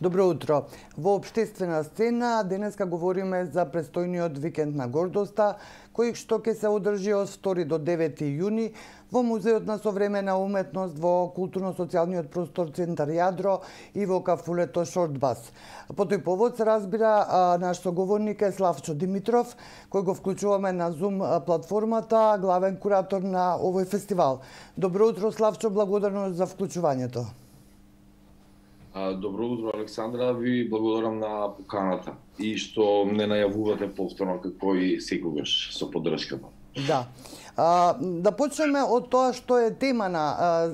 Добро утро. Во Обштествена сцена денеска говориме за престојниот викенд на гордоста, кој што ќе се одржи од 2 до 9 јуни во Музеот на современа уметност во културно-социјалниот простор Центар Јадро и во кафулето Шортбас. По тој повод се разбира наш соговорник е Славчо Димитров, кој го вклучуваме на Zoom платформата, главен куратор на овој фестивал. Добро утро, Славчо, благодарно за вклучувањето. Добро утро, Александра, ви благодарам на поканата и што не најавувате повторно како и секогаш со поддршката. Да. Да почнеме од тоа што е тема на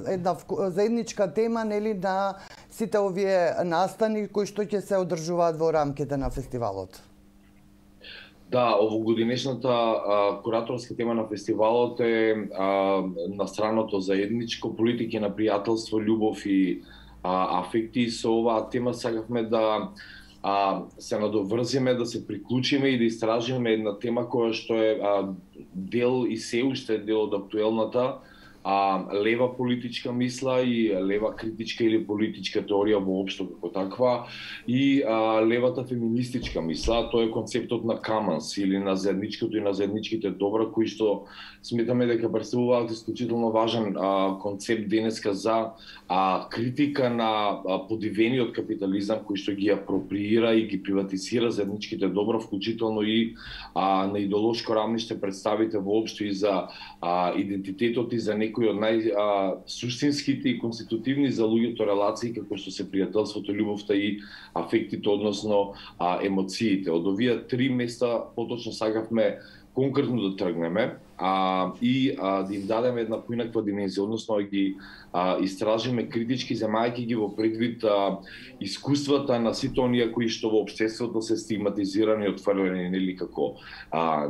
една заедничка тема, нели, на сите овие настани кои што ќе се одржуваат во рамките на фестивалот. Да, овогодинешната кураторска тема на фестивалот е настраното заедничко, политики на пријателство, љубов и афекти. Со оваа тема сакавме да се надоврзиме, да се приклучиме и да истражиме една тема која што е дел и се уште дел од актуелната лева политичка мисла и лева критичка или политичка теорија воопшто како таква и левата феминистичка мисла. Тоа е концептот на commons или на заедничкото и на заедничките добра, кои што сметаме дека представуваат исклучително важен концепт денеска за критика на подивениот капитализам кој што ги апроприира и ги приватизира заедничките добра, вклучително и на идеолошко рамниште представите воопшто и за идентитетот и за некои од најсуштинските и конститутивни за луѓето релации како што се пријателството, љубовта и афектите, односно емоциите. Од овие три места поточно сакавме конкретно да тргнеме и да им дадеме една поинаква димензија, односно да ги истражиме критички, земајќи ги во предвид искуствата на сите оние кои што во општеството се стигматизирани и отфрлени, нели, како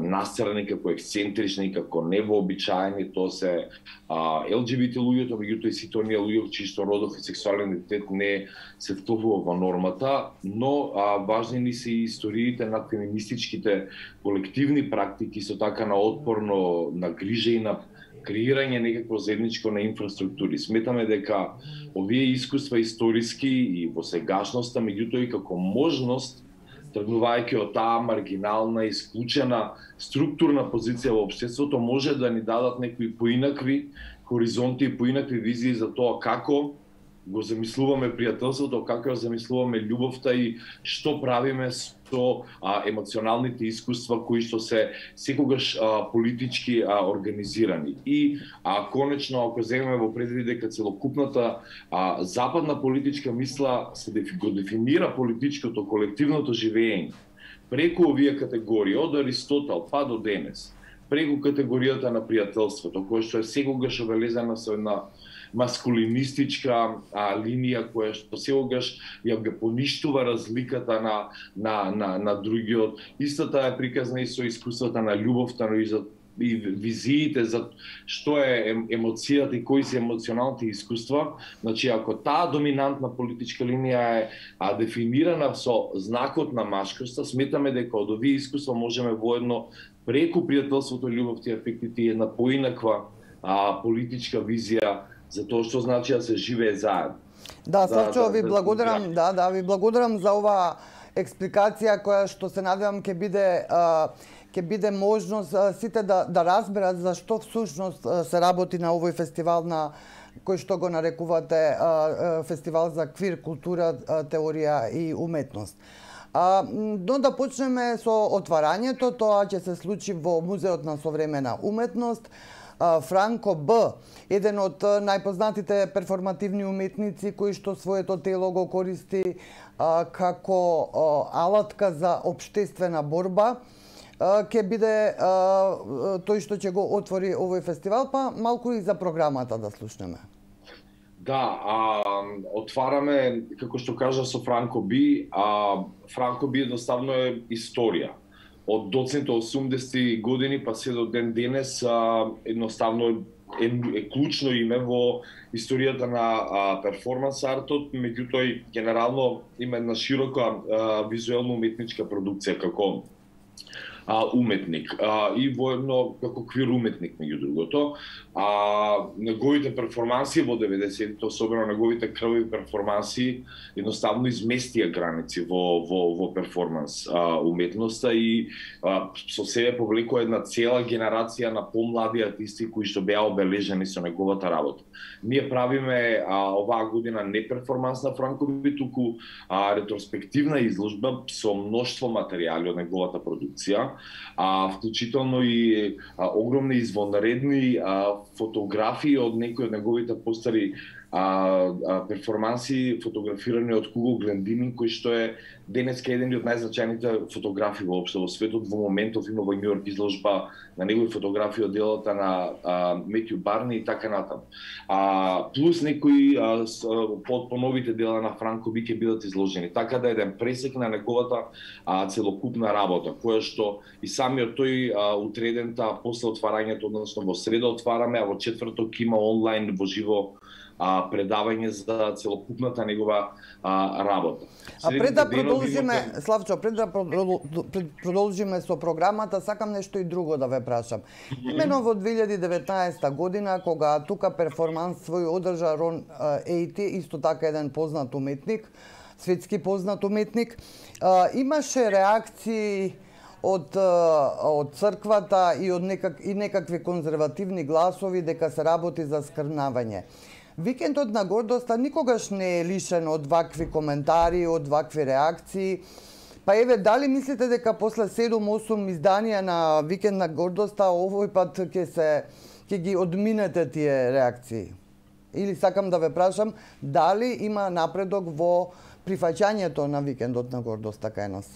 насцрани, како ексцентрични, како невообичаени. Тоа се ЛГБТ луѓето, меѓутоа и сите оние луѓе чии што родов и сексуален идентитет не се вклопува во нормата, но важни ни се и историите на феминистичките колективни практики, со така на отпорно, на грижа и на креирање некакво заедничко на инфраструктури. Сметаме дека овие искуства историски и во сегашноста, меѓутоа и како можност, тргнувајќи од таа маргинална, исклучена структурна позиција во општеството, може да ни дадат некои поинакви хоризонти и поинакви визии за тоа како го замислуваме пријателството, како ја замислуваме љубовта и што правиме со емоционалните искуства кои што се секогаш политички организирани. И конечно, ако земеме во предвид дека целокупната западна политичка мисла се го дефинира политичкото, колективното живење преку овие категории, од Аристотел па до денес, преку категоријата на пријателството, која што е секогаш обелезана со една маскулинистичка линија која што секогаш ја поништува разликата на другиот. Истата е приказна и со искуствата на љубовта, но и визиите за што е емоцијата и кои се емоционалните искуства. Значи, ако таа доминантна политичка линија е дефинирана со знакот на машкоста, сметаме дека од овие искуства можеме воедно преку пријателството, љубовта и афектите една поинаква политичка визија за тоа што значи да се живее заедно. Да, Славчо, ви благодарам, ви благодарам за оваа експликација која што се надевам ќе биде можност сите да разберат за што всушност се работи на овој фестивал на кој што го нарекувате фестивал за квир култура, теорија и уметност. Но да почнеме со отварањето, тоа ќе се случи во Музеот на современа уметност. Франко Б, еден од најпознатите перформативни уметници кои што своето тело го користи како алатка за општествена борба, ќе биде тој што ќе го отвори овој фестивал, па малку и за програмата да слушнеме. Да, отвараме, како што кажа, со Франко Би. Франко Би едноставно е историја. Од доцните 80 години па се до ден денес едноставно е клучно име во историјата на перформанс артот, меѓутоа и генерално има една широка визуелно уметничка продукција како уметник и воедно како квир уметник меѓу другото. Неговите перформанси во 90-тите, особено неговите крвави перформанси, едноставно изместија граници во перформанс уметноста и со себе повлекува една цела генерација на помлади артисти кои што беа обележени со неговата работа. Ние правиме оваа година не перформанс на Франко Би, туку ретроспективна изложба со мноштво материјали од неговата продукција, вклучително и огромни извонредни фотографии од некои од неговите постари перформанси, фотографирани од Куго Глендининг, кој што е денеска еден од најзначајните фотографи воопшто во светот. Во моментов има во Њујорк изложба на негови фотографии од делата на Метју Барни и така натаму. Плюс некои по новите дела на Франко Би ќе бидат изложени. Така да еден пресек на неговата целокупна работа, која што и самиот тој утредента после отварањето, односно во среда отвараме, а во четврток има онлайн во живо предавање за целокупната негова работа. Пред да продолжиме, Славчо, пред да продолжиме со програмата, сакам нешто и друго да ве прашам. Имено во 2019 година, кога тука перформанс свој одржа Рон Ејти, исто така еден познат уметник, светски познат уметник, имаше реакции од црквата и од некакви конзервативни гласови дека се работи за скрнавање. Викендот на гордоста никогаш не е лишен од вакви коментари, од вакви реакции. Па еве, дали мислите дека после 7-8 изданија на Викенд на гордоста овој пат ќе ги одминете тие реакции? Или сакам да ве прашам, дали има напредок во прифаќањето на Викендот на гордоста кај нас?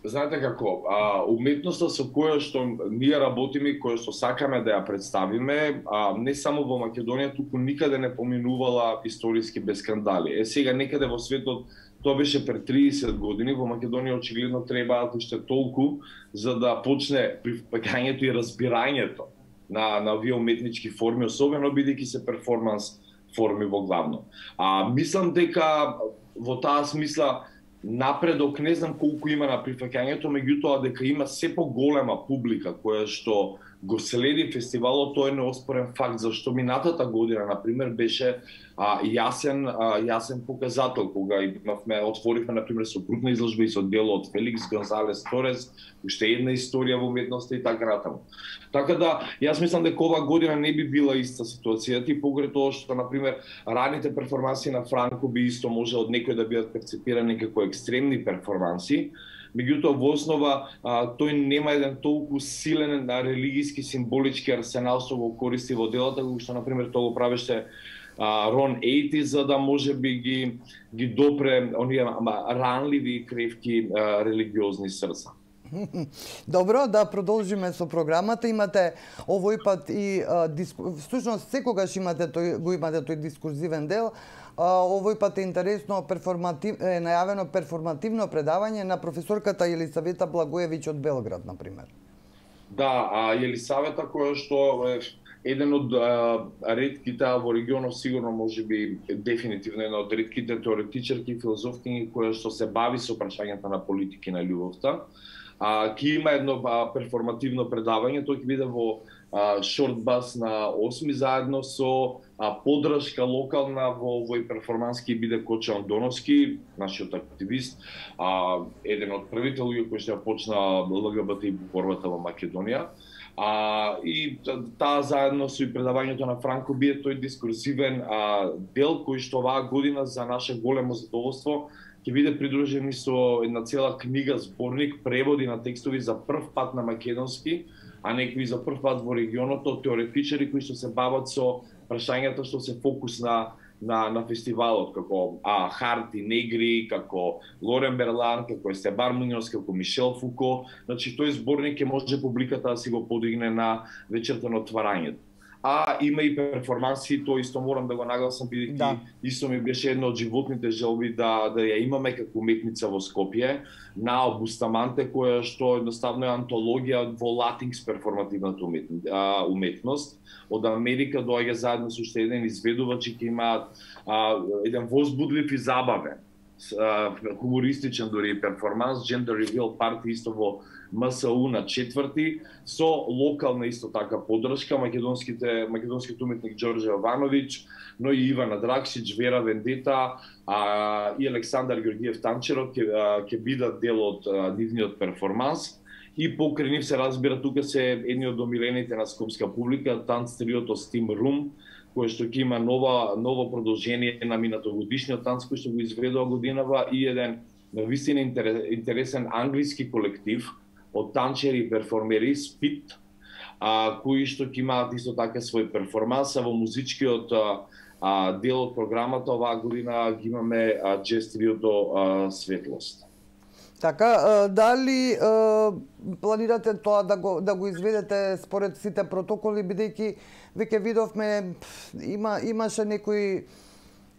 Знаете како, уметноста со која што ние работиме и која што сакаме да ја представиме, не само во Македонија, туку никаде не поминувала историски без скандали. Сега некаде во светот тоа беше пред 30 години, во Македонија очигледно требаат уште толку за да почне прифаќањето и разбирањето на овие уметнички форми, особено бидејќи се перформанс форми во главно. Мислам дека во таа смисла напредок не знам колку има на прифаќањето, меѓутоа дека има се поголема публика која што го следи фестивалот, тоа е неоспорен факт, зашто минатата година, например, беше јасен показател, кога отворивме, например, со групна изложба и со дело од Феликс Гонзалес Торес, уште една историја во уметноста и така натаму. Така да, јас мислам дека ова година не би била иста ситуацијата и покрај тоа што, например, раните перформанси на Франко Би исто може од некој да бидат перцепирани како екстремни перформанси, меѓутоа во основа тој нема еден толку силен религиски символички арсенал што го користи во делата, како што например тоа го правеше Рон Ејти, за да може би ги допре оние ранливи и кревки религиозни срца. Добро, да продолжиме со програмата. Имате овој пат и всушност секогаш имате тој дискурзивен дел. Овој пат е интересно најавено перформативно предавање на професорката Елисавета Благоевиќ од Белград, например. Да, Елисавета која што е еден од ретките во регионот, сигурно можеби дефинитивно една од ретките теоретичарки и филозофки која што се бави со прашањата на политики на љубовта. Ки има едно перформативно предавање, тој ќе биде во Шортбас на 8 заедно со поддршка локална во овој перформанс ќе биде Коче Андоновски, нашиот активист, еден од првите луѓе кои што ја почна ЛГБТ борбата во Македонија. И таа заедно со и предавањето на Франко Би е тој дискурсивен дел кој што оваа година за наше големо задоволство ќе биде придружен со една цела книга, зборник, преводи на текстови за прв пат на македонски, а некои за прв пат во регионот од теоретичари кои што се бават со прашањата што се фокус на фестивалот, како Харти Негри, како Лорен Берлан, како Естебан Муњоз, како Мишел Фуко. Значи, тој зборник ќе може публиката да си го подигне на вечерта на отварањето. Има и перформанси, тоа исто морам да го нагласам, бидејќи исто ми беше една од животните желби да ја имаме како уметница во Скопје, Нао Бустаманте, која што едноставно е антологија во латинкс перформативната уметност. Од Америка доаѓа заедно со уште еден изведувач и ќе имаат еден возбудлив и забавен хумористичен дури перформанс, Gender Reveal Party исто во МСУ на 4-ти, со локална исто така поддршка, македонскиот уметник Ѓорѓе Јовановиќ, но и Ивана Дракшич, Вера Вендета и Александар Ѓорѓиев Танчерот ќе бидат дел од нивниот перформанс. И покрај нив се разбира, тука се едни од омилените на скопска публика, танц триото Steam Room, кој што ќе има ново продолжение на минатогодишниот танц кој што го изведува годинава, и еден навистина интересен англиски колектив од танчери и перформери Spit, кои што ќе имаат исто така свој перформанс, а во музичкиот дел од програмата оваа година ги имаме джез триото Светлост. Така, дали планирате тоа да го изведете според сите протоколи, бидејќи веќе видовме имаше некои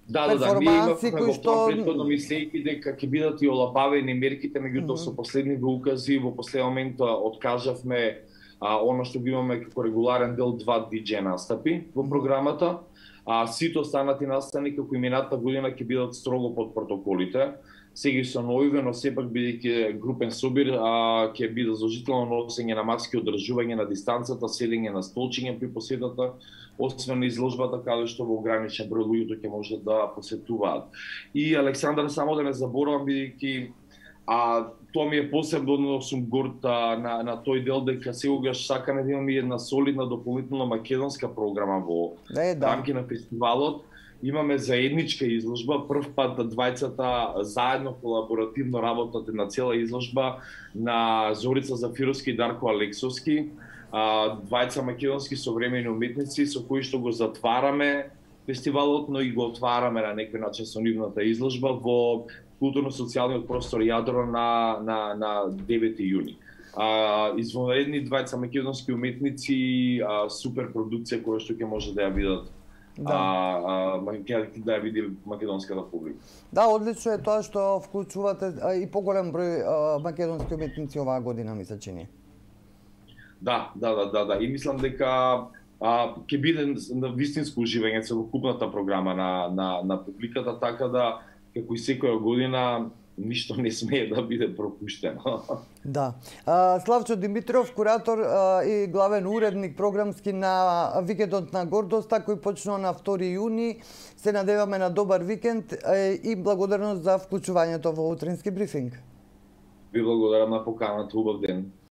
перформанси кои што претходно мислејќи дека ќе бидат и олабавени мерките, меѓутоа со последните укази во последен момент откажавме она што го имаме како регуларен дел 2 DJ настапи во програмата. Сите останати настани како и минатата година ќе бидат строго под протоколите. Сега со новиве, но сепак бидејќи групен собир ќе биде задолжително носење на маски, одржување на дистанцата, седење на столчиња при посетата, освен изложбата каде што во ограничен број луѓето ќе може да посетуваат. И Александар, само да не заборавам, бидејќи тоа ми е посебно, но сум горд на тој дел дека сегогаш сакаме да имаме една солидна дополнителна македонска програма во рамки на фестивалот. Имаме заедничка изложба, прв пат двајцата заедно колаборативно работат на цела изложба на Зорица Зафировски и Дарко Алексовски, двајца македонски современи уметници со кои што го затвараме фестивалот, но и го отвараме на некој начин со нивната изложба во културно-социјалниот простор Јадро на 9 јуни. Извонредни двајца македонски уметници, супер продукција која што ќе може да ја видат да ја види македонската публика. Да, одлично е тоа што вклучувате и поголем број македонски уметници оваа година, ми се чини. Да. И мислам дека ќе биде на вистинско уживање целокупната програма на публиката, така да како и секоја година ништо не смее да биде пропуштено. Да. Славчо Димитров, куратор и главен уредник програмски на Викендот на гордоста, кој почнува на 2 јуни. Се надеваме на добар викенд и благодарност за вклучувањето во утрински брифинг. Ви благодарам на поканата, убав ден.